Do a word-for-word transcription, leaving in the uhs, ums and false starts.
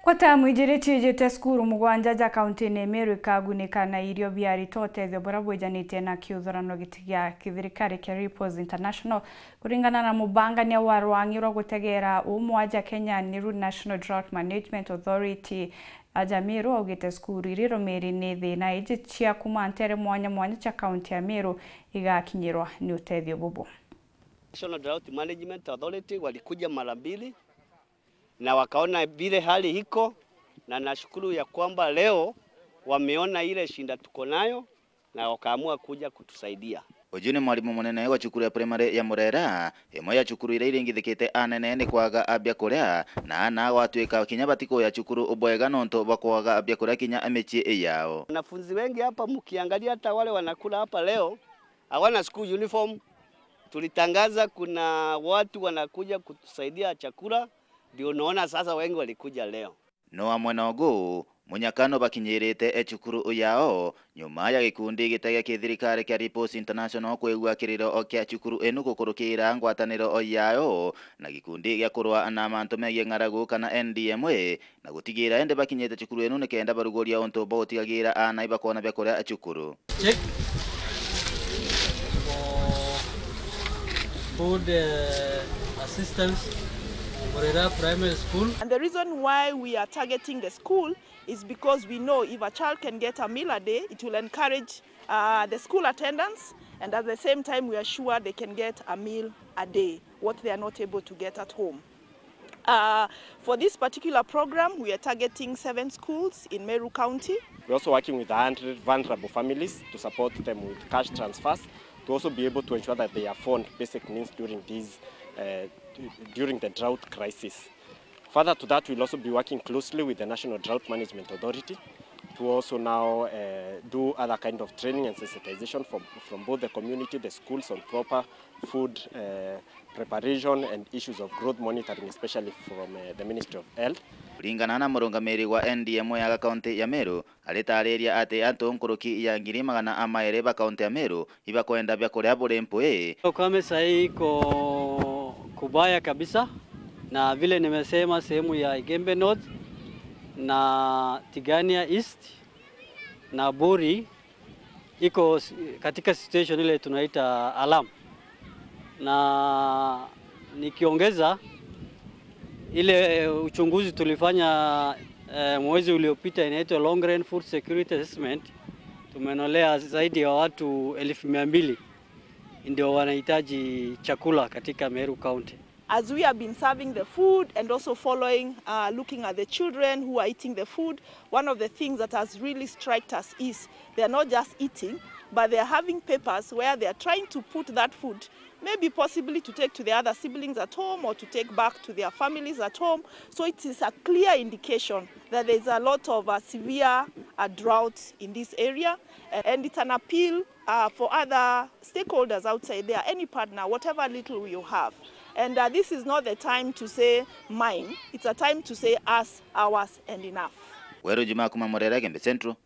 Gwata mwijiriti ijite cukuru mugwanja ja kaunti-ini ya Meru ikagunika na irio bia arito, utethio buria bwijanitie na kiuthurano giti gia kithirikari kia Ripples International. Kuringana na mubangania wa rwang'i rwa gutegeera umwa ja Kenya, niru National Drought Management Authority, aja Meru augite cukuru iri rumiri ni thina iji cia kuma ntere mwanya mwanya cia kaunti ya Meru igakinyirwa ni utethio bubu. National Drought Management Authority walikuja mara mbili na wakaona vile hali iko, na nashukuru ya kwamba leo wameona ile shinda tuko nayo na wakaamua kuja kutusaidia. Uju ni mwarimu munene wa cukuru ya primary ya Murera, imwe ya cukuru iria iringithikite anene ni kwaga biakuria, na aana gwatuika kinya batikuya cukuru bwega nontu bwa kwaga biakuria kinya micii yao. Wanafunzi wengi hapa, mkiangalia, hata wale wanakula hapa leo hawana school uniform. Tulitangaza kuna watu wanakuja kutusaidia chakula, ndio unaona sasa wengi walikuja leo. No amwe na ugu, munyaka no bakinyirite e cukuru yao, nyuma ya gikundi gita gia kithirikari kia Ripples International kwigua kiriro kia cukuru inu gukurukira ngwataniro yao na gikundi gia kurwa na mantu megie ng'aragu kana N D M A, na gutigira indi bakinyite cukuru inu nikenda baruguria untu bwa gutigagira aana ibakoona biakuria cukuru. Check for food, uh, assistance, Murera Primary School. And the reason why we are targeting the school is because we know if a child can get a meal a day, it will encourage, uh, the school attendance, and at the same time, we are sure they can get a meal a day, what they are not able to get at home. Uh, for this particular program, we are targeting seven schools in Meru County. We're also working with a hundred vulnerable families to support them with cash transfers to also be able to ensure that they afford basic needs during these, uh, during the drought crisis. Further to that, we'll also be working closely with the National Drought Management Authority to also now, uh, do other kind of training and sensitization from, from both the community, the schools on proper food, uh, preparation and issues of growth monitoring, especially from, uh, the Ministry of Health. Kuringana na murungamiri wa N D M A ya kaunti ya Meru, aritariria ati antu nkuruki ya ngiri magana amairi ba kaunti ya Meru ibakwenda biakuria buri mpwi. Ukame sahii iko kubaya kabisa, na vile nimesema, sehemu ya Igembe North na Tigania East na Buri iko s-, katika situation ile tunaita alarm. Na nikiongeza ile uchunguzi tulifanya, eh, mwezi uliopita, inaitwa Long Range Food Security Assessment, tumenolea zaidi ya watu elfu mia mbili ndio wanahitaji chakula katika Meru County. As we have been serving the food and also following, uh, looking at the children who are eating the food, one of the things that has really struck us is they are not just eating, but they are having papers where they are trying to put that food, maybe possibly to take to their other siblings at home or to take back to their families at home. So it is a clear indication that there is a lot of, uh, severe, uh, drought in this area, and it's an appeal uh, for other stakeholders outside there, any partner, whatever little you have. And, uh, this is not the time to say mine, it's a time to say us, ours, and enough. Weru Juma kuma Murera, Igembe Central,